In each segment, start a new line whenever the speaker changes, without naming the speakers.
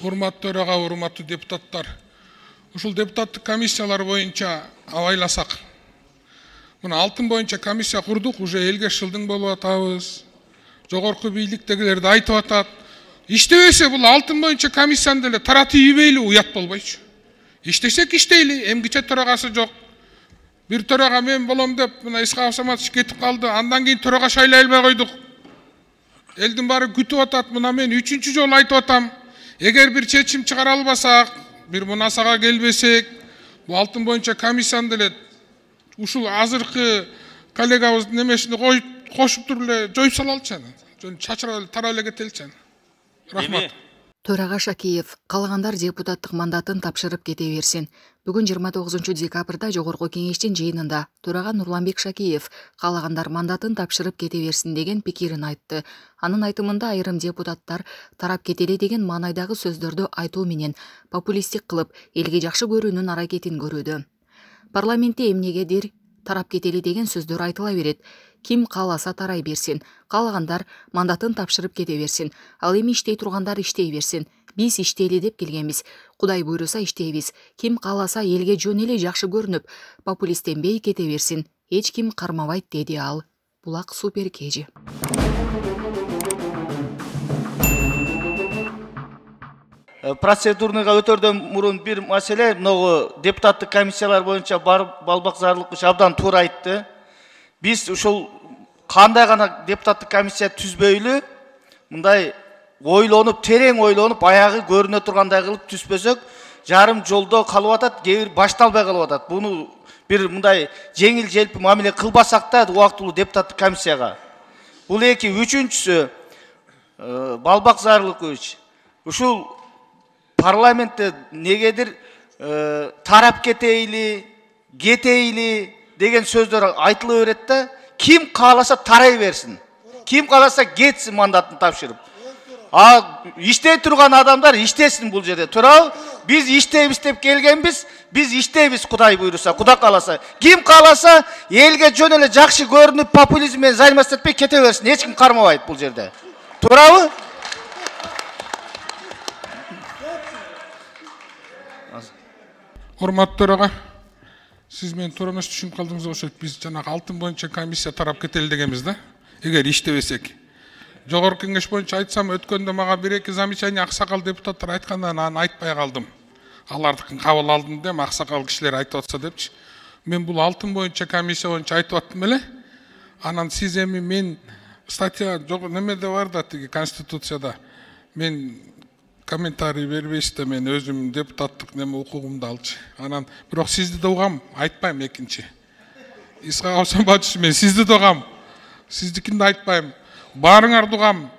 Урматтуу төрага, урматтуу депутаттар. Ушул депутаттык комиссиялар боюнча абайласак. Мына алтын боюнча комиссия курдук, уже элге шылдың болуп атабыз. Жогорку бийликтегилерди айтып атат. Иштебесе бул алтын боюнча комиссияны деле таратып ийбейли, уят болбойчу. Иштесек иштейли, эмгиче төрагасы жок. Бир төрага мен болом деп, мына Исхак Саматович кетип калды. Андан кийин төрага шайлай албай койдук. Элдин баары күтүп атат. Мына мен 3-чү жолу айтып атам. Эгер бир чечим чыгара албасак, бир мунасага келбесек, бул алтын боюнча комиссияны деле ушул азыркы коллегабыздын немесине кошуп туруп эле жоюп сала алчу. Чачырап тарап эле кетеличи. Рахмат.
Төрага Шакиев, калгандар депутаттык мандатын тапшырып кете берсин. Бүгүн 29 декабрда Жогорку кеңештин жыйынында төрага Нурланбек Шакиев калгандар мандатын тапшырып кете берсин деген пикирин айтты. Анын айтымында айрым депутаттар тарап кетели деген маанайдагы сөздөрдү айтуу менен популисттик кылып, элге жакшы көрүүнүн аракетин көрүүдө. Парламентте эмнегедир тарап кетели деген сөздөр айтыла берет. Ким кааласа тарай берсин, каалагандар мандатын тапшырып кете берсин. Ал эми иштей тургандар иштей берсин. Биз иштейли деп келгенбиз. Кудай буйруса иштейбиз. Ким кааласа элге жөн эле жакшы көрүнүп, популисттенбей кете берсин. Эч ким кармабайт деди ал. Булак Супер Кежи.
Процедурныйга өтөрдөн мурун бир маселе, могу депутаттык комиссиялар боюнча Балбак Зарлыкович абдан туура айтты. Биз ушул кандай гана депутаттык комиссия түзбөйлү, мындай ойлонуп, терең ойлонуп, аягы көрүнө тургандай кылып түзбөсөк, жарым жолдо калып атат, кээ бир башталбай калып атат. Буну бир мындай жеңил желпи мамиле кылбасак да убактылуу депутаттык комиссияга. Бул эки, үчүнчүсү, Балбак Зарлыкович, ушул парламентте негедир тарап кетейли деген сөздөр айтыла берет да, ким кааласа тарай берсин. Ким кааласа кетсин мандатын тапшырып. Иштей турган адамдар иштесин бул жерде. Туурабы? Биз иштейбиз деп келгенбиз, биз иштейбиз Кудай буйруса, Кудай кааласа. Ким кааласа элге жөн эле жакшы көрүнүп, популизм менен заниматься этпей кете берсин. Эч ким кармабайт бул жерде. Туурабы?
Урматтуу төрага, сиз мен туура эмес түшүнүп калдыңыз окшойт. Биз жанагы алтын боюнча комиссия тарап кетели дегенбиз да. Эгер иштебесек. Жогорку кеңеш боюнча айтсам, өткөндө мага 1-2 замечание аксакал депутаттар айткандан аны айтпай калдым. Алардыкын кабыл алдым деп аксакал кишилер айтып атса депчи. Мен бул алтын боюнча комиссия боюнча айтып аттым эле. Анан сиз эми мен статья жок немеде бар да, тиги конституцияда. Мен комментарий бербейсиз да, мен өзүм депутаттык неме укугумду алчы. Анан бирок сизди да угам, айтпайм экинчи. Исхак Саматович, мен сизди да угам. Сиздикин да айтпайм. Баарыңарды угам.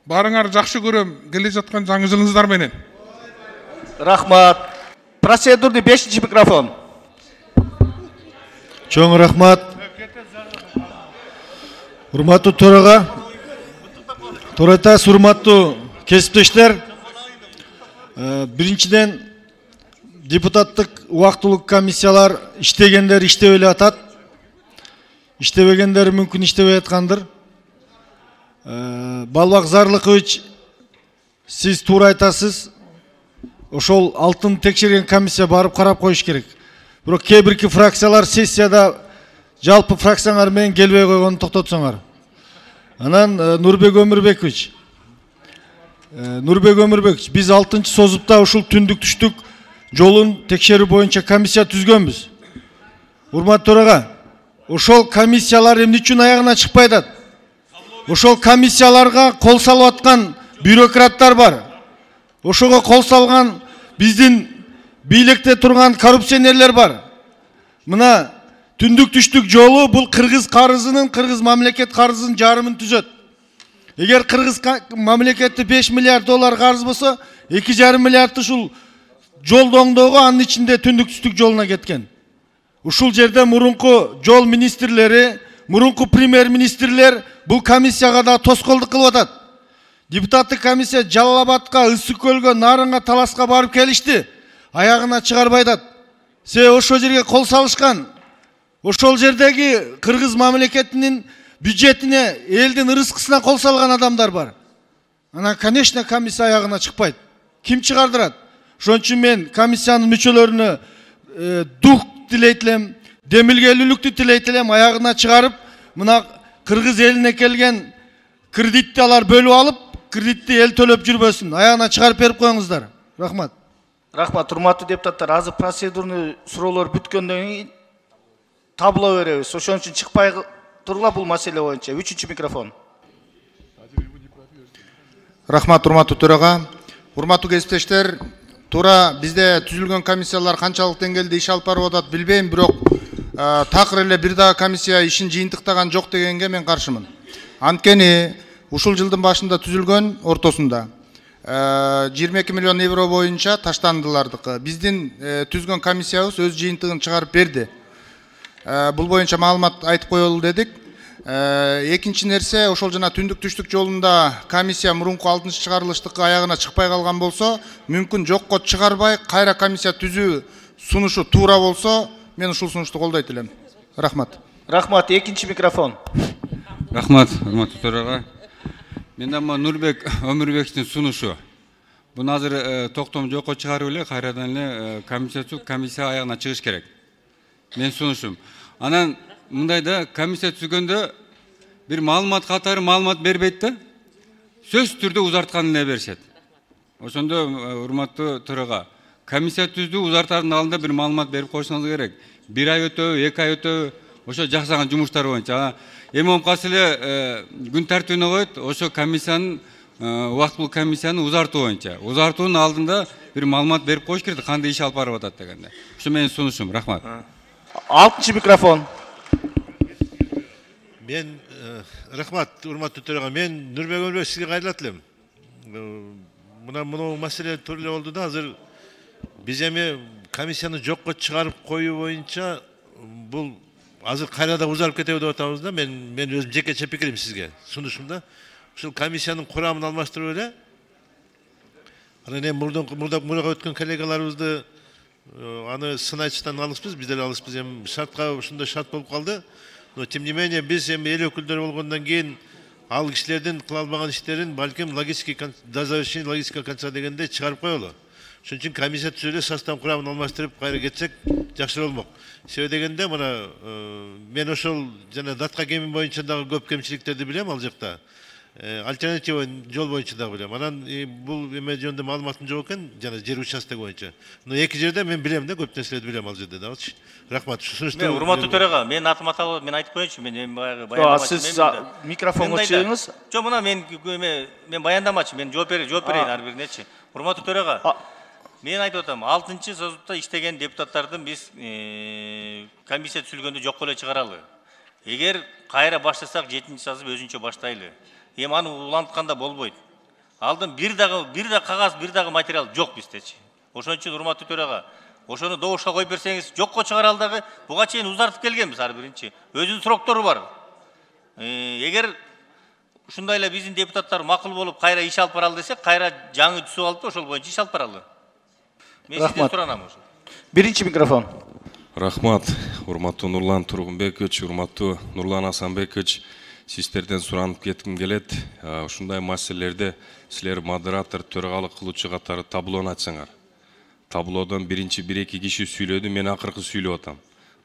Баарыңар жакшы көрөм келе жаткан жаңы жылыңыздар менен.
Рахмат. Процедурный 5-чи микрофон.
Чоң рахмат. Урматтуу төрага, урматтуу кесиптештер. Биринчиден депутаттык убактылуу комиссиялар иштегендер иштеп эле атат. Иштебегендер мүмкүн иштебей аткандыр. Балбак Зарлыкович, сиз туура айтасыз. Ошол алтын текшерген комиссия барып карап коюш керек. Бирок кээ бирки фракциялар сессияда жалпы фракциялар менен келбей койгонун токтотсоңор. Анан Нурбек Өмүрбекович, биз 6-чы созупта ушул түндүк түштүк жолун текшерүү боюнча комиссия түзгөнбүз. Урматтуу төрага, ошол комиссиялар эмне үчүн аягына чыкпай атат? Ошол комиссияларга кол салып аткан бюрократтар бар. Ошого кол салган биздин бийликте турган коррупционерлер бар. Мына түндүк түштүк жолу бул кыргыз карызынын, кыргыз мамлекет карызынын жарымын түзөт. Эгер кыргыз мамлекетте 5 миллиард доллар карыз болсо, 2,5 миллиард ушул жолдоңдоого, анын ичинде түндүк түштүк жолуна кеткен. Ушул жерде мурунку жол министрлери, мурунку премьер-министрлер бул комиссияга да тоскоолдук кылып атат. Депутаттык комиссия Жалал Абадка, Ысык көлгө, Нарынга, Таласка барып келишти. Аягына чыгарбай атат. Ошол жерге кол салышкан. Ошол жердеги кыргыз мамлекетинин бюджетине, элдин ырыскысына кол салган адамдар бар. Анан, конечно, комиссия аягына чыкпайт. ким чыгардырат? Ошон үчүн мен комиссиянын мүчөлөрүнө дух тилейт элем, демилгелүүлүктү тилейт элем, аягына чыгарып, мына кыргыз элине келген кредитти алар бөлүп алып, кредитти эл төлөп жүрбөсүн. Аягына чыгарып берип коюңуздар. Рахмат.
Рахмат, урматтуу депутаттар. Азыр процедурный суроолор бүткөндөн кийин табло беребиз. Ошон үчүн чыкпай тургула бул маселе боюнча. 3-чү микрофон.
Рахмат, урматтуу төрага. Урматтуу кесиптештер, туура бизде түзүлгөн комиссиялар канчалык деңгээлде иш алып барып атат билбейм, бирок такыр эле бир дагы комиссия ишин жыйынтыктаган жок дегенге мен каршымын. Анткени ушул жылдын башында түзүлгөн ортосунда 22 миллион евро боюнча таштандылардыкы. Биздин түзгөн комиссиябыз өз жыйынтыгын чыгарып берди. Бул боюнча маалымат айтып коелу дедик. Экинчи нерсе, ошол жана түндүк түштүк жолунда комиссия мурунку 6-чы чыгарылыштыкы аягына чыкпай калган болсо, мүмкүн жокко чыгарбай кайра комиссия түзүү сунушу туура болсо, мен ушул сунушту колдойт элем. Рахмат.
Рахмат, 2-чи микрофон.
Рахмат, урматтуу төрага. Мен дагы Нурбек Өмүрбековдун сунушу. Буну азыр токтом жокко чыгарып эле кайрадан эле комиссия аягына чыгыш керек. Мен сунушум. Анан мындай да комиссия түзгөндө бир маалымат катары маалымат бербейт да, сөз түрдө узарткан эле беришет. Ошондо урматтуу төрага, комиссия түздү, узартардын алдында бир маалымат берип койсоңуз керек. 1 ай өтөбү, 2 ай өтөбү, ошо жаксаган жумуштар боюнча. Эми омкасы эле күн тартибине коет, ошо комиссиянын убактылуу комиссияны узартуу боюнча. Узартуунун алдында бир маалымат берип коюш керек, кандай иш алып барып атат дегенде. Ошо менин сунушум. Рахмат.
6-чы микрофон.
Мен рахмат, урматтуу төрага. Мен Нурбек Өмүрбеков сизге кайрылат элем. Мына маселе тура эле болду да, азыр биз эми комиссияны жокко чыгарып коюу боюнча бул азыр кайрада узарып кетеби деп атабыз да. Мен өзүм жекече пикирим сизге сунушум да. Ушул комиссиянын курамын алмаштырып эле. Анан эми мурда өткөн коллегаларыбызды аны сынайчыдан алыспыз, биз деле алыспыз. Эми шартка ушундай шарт болуп калды. Но тем не менее биз эми эл өкүлдөрү болгондон кийин ал кишилердин кыла албаган иштерин балким до завершения логического конца дегенде чыгарып коелу. Ошон үчүн комиссия түзүлүп, состав курамын алмаштырып кайра кетсек жакшы болмок. Себеби дегенде мына мен ошол жана датка кеми боюнча дагы көп кемчиликтерди билем ал жакта. Альтернатива жол боюнча дагы билем. Анан бул эме жөнүндө маалыматым жок экен, жана жер участок боюнча. Но эки жерде мен билем да, көп нерселерди билем ал жерде дагычы. Рахмат.
Мен урматтуу төрага, мен атым аталып, мен айтып коеюнчу, мен эми баяндамачы.
Сиз микрофонго чыгыңыз.
Жок, мына мен баяндамачы, мен жооп берейин ар биринечи. Урматтуу төрага, мен айтып атам, 6-чы созутта иштеген депутаттардын биз комиссия түзүлгөндө жокко эле чыгаралы. Эгер кайра баштасак 7-чи созып өзүнчө баштайлы. Эми аны улантканда болбойт. Алдын бир дагы кагаз, бир дагы материал жок биздечи. Ошон үчүн урматтуу төрага, ошону добушка коюп берсеңиз, жокко чыгара алдагы буга чейин узартып келгенбиз ар биринчи. Өзүнүн сроктору бар. Эгер ушундай эле биздин депутаттар макул болуп кайра иш алып баралы десек, кайра жаңы түзүп алып ошол боюнча иш алып баралы. Мен сизден суранам ошо.
1-чи микрофон.
Рахмат, урматтуу Нурлан Тургунбекович, урматтуу Нурлан Асанбекович, сиздерден суранып кетким келет. Ушундай маселелерде силер модератор, төрагалык кылуучу катары таблону ачсаңар. Таблодон биринчи 1-2 киши сүйлөдү, мен акыркы сүйлөп атам.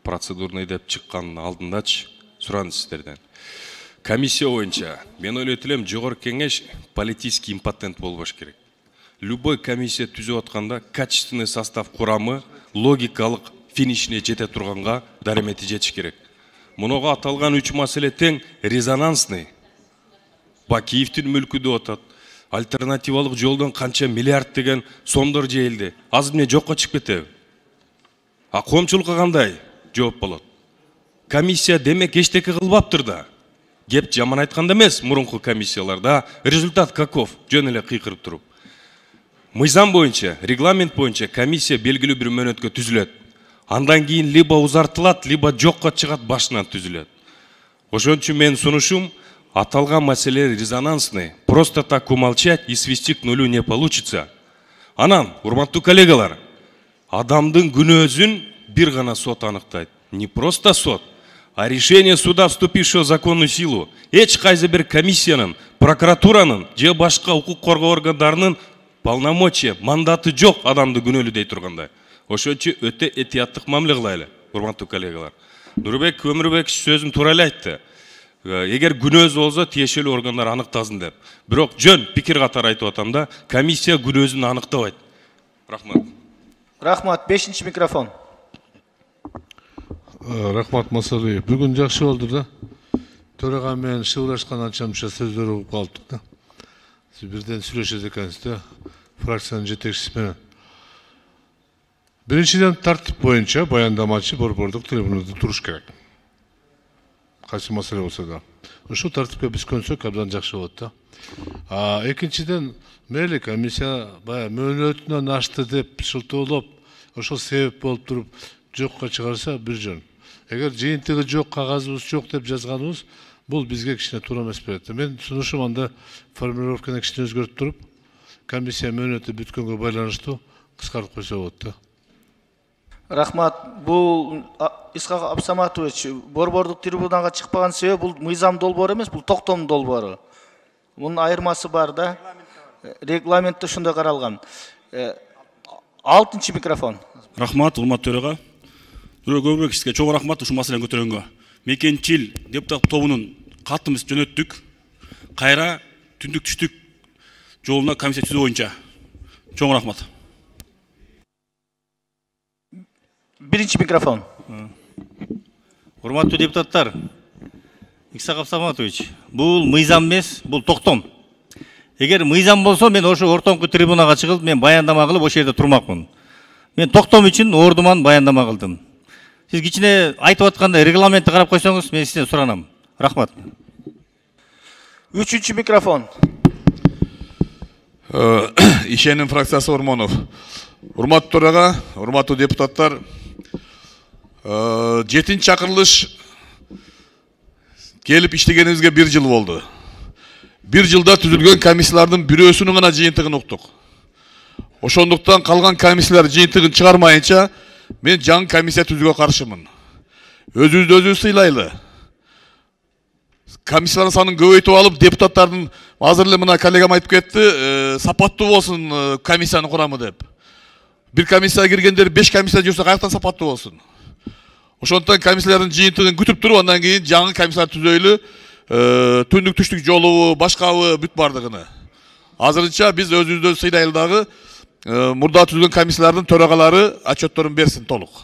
Процедурный деп чыккандын алдындачы суран сиздерден. Комиссия боюнча мен ойлойт элем, жогорку кеңеш политический импотент болбош керек. Любой комиссия түзүп атканда качественный состав курамы логикалык финишине жете турганга даремети жетиш керек. Мунуга аталган 3 маселе тең резонансный. Бакиевдин мүлкү деп атат. Альтернативалык жолдон канча миллиард деген сомдор жейилди. Азыр эмне жокко чыгып кетеби? Коомчулукка кандай жооп болот? Комиссия демек эчтеке кылбаптыр да. Кеп жаман айтканда эмес, мурунку комиссияларда результат каков? Жөн эле кыйкырып туруп. Мыйзам боюнча, регламент боюнча комиссия белгилүү бир мөөнөткө түзүлөт. Андан кийин либо узартылат, либо жокко чыгат, башынан түзүлөт. Ошон үчүн мен сунушум, аталган маселе резонансный. Просто так умолчать и свести к нулю не получится. Анан, урматтуу коллегалар, адамдын күнөөсүн бир гана сот аныктайт. Не просто сот, а решение суда, вступившего в законную силу. Эч кайсы бир комиссиянын, прокуратуранын же башка укук коргоо органдарынын полномочия, мандаты жок адамды күнөөлүү дей тургандай. Ошон үчүн өтө этияттык мамиле кылайлы, урматтуу коллегалар. Нурбек Өмүрбекович сөзүн туура эле айтты. Эгер күнөөсү болсо тиешелүү органдар аныктасын деп. Бирок жөн пикир катары айтып атам да, комиссия күнөөсүн аныктабайт. Рахмат.
Рахмат, 5-чи микрофон.
Рахмат Масалиев. Бүгүн жакшы болду да. Төрага менен шыбырлашкан анча-мынча сөздөр угуп калдык да. Сиз бирден сүйлөшөт экенсиз да, фракциянын жетекчиси менен. Биринчиден тартип боюнча баяндамачы борбордук трибунада туруш керек. Кайсы маселе болсо да. Ушул тартипке биз көнсөк абдан жакшы болот да. Экинчиден мейли комиссия баягы мөөнөтүнөн ашты деп шылтоолоп, ошол себеп болуп туруп жокко чыгарса бир жөн. Эгер жыйынтыгы жок, кагазыбыз жок деп жазганыбыз, бул бизге кичине туура эмес берет. Мен сунушум анда формулировканы кичине өзгөртүп туруп, комиссия мөөнөтү бүткөнгө байланыштуу кыскартып койсо болот да.
Рахмат. Бул Исхак Абсаматович, борбордук трибунага чыкпаган себеп бул мыйзам долбоору эмес, бул токтом долбоору. Мунун айырмасы бар да. Регламентте ушундай каралган. 6-чы микрофон.
Рахмат, урматтуу төрага. Нурбек Өмүрбековичке чоң рахмат ушул маселени көтөргөнгө. Мекенчил депутат тобунун катымыз жөнөттүк. Кайра түндүк түштүк жолуна комиссия түзүү боюнча. Чоң рахмат.
1-чи микрофон.
Урматтуу депутаттар, Исхак Абсаматович, бул мыйзам эмес, бул токтом. Эгер мыйзам болсо, мен ошо ортоңку трибунага чыгып, мен баяндама кылып ошол жерде турмакмын. Мен токтом үчүн ордуман баяндама кылдым. Сиз кичине айтып атканда регламентти карап койсоңуз, мен сизден суранам. Рахмат.
3-чү микрофон.
Ишеним фракциясы Ормонов. Урматтуу төрага, урматтуу депутаттар, 7-чи чакырылыш келип иштегенибизге 1 жыл болду. 1 жылда түзүлгөн комиссиялардын бирөөсүнүн гана жыйынтыгын уктук. Ошондуктан калган комиссиялар жыйынтыгын чыгармайынча мен жаңы комиссия түзүүгө каршымын. Өзүбүздү өзүбүз сыйлайлы. Комиссиялардын санын көбөйтүп алып, депутаттардын азыр эле мына коллегам айтып кетти, сапаттуу болсун комиссиянын курамы деп. Бир комиссияга киргендер 5 комиссия жүрсө каяктан сапаттуу болсун. Ошондуктан комиссиялардын жыйынтыгын күтүп туруп, андан кийин жаңы комиссиялар түзөйлү, түндүк түштүк жолубу, башкабы бүт бардыгыны. Азырынча биз өзүбүздү сыйлайлы дагы, мурда түзүлгөн комиссиялардын төрагалары отчетторун берсин толук.